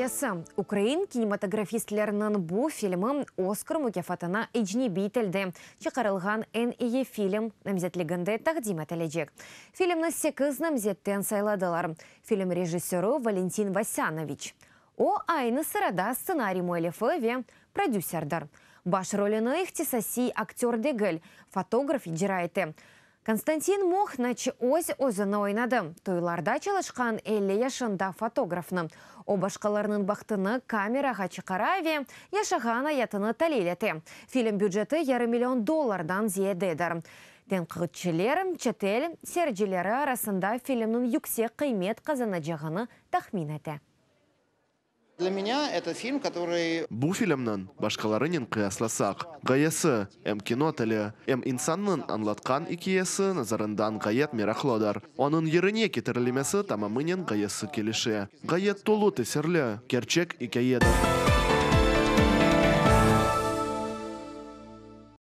ikâyesi. Ukrain kinematografistleriniñ bu filmi Oskar mukâfatına ecnebiy tilde çıqarılğan eñ eyi film namzetliginde taqdim etilecek. Filmni sekiz namzetten sayladılar. Film rejissörı Valentin Vasânoviç. O, aynı sırada stsenariy müellifi ve prodüserdir. Baş rolüni ihtisasiy aktör degil, fotograf icra ete. Konstantin Mohnaç öz-özüni oynadı, toylarda çalışqan 50 yaşında fotografnı. O, başqalarınıñ bahtını kamerağa çıqara ve yaşağan ayatını talil ete. Film büceti yarım million dollardan ziyadedir. Tenqitçiler çetel seyircileri arasında filmniñ yüksek qıymet qazanacağını tahmin ete. Для меня это фильм, который... Bu filmniñ, başqalarınen qıyaslasaq, ğayesi, em kino tili, em insannıñ añlatqan ikâyesi nazarından ğayet meraqlıdır. Onıñ yerine ketirilmesi tamamınen ğayesi kelişe. Ğayet tolu tesirli, kerçek ikâyedir.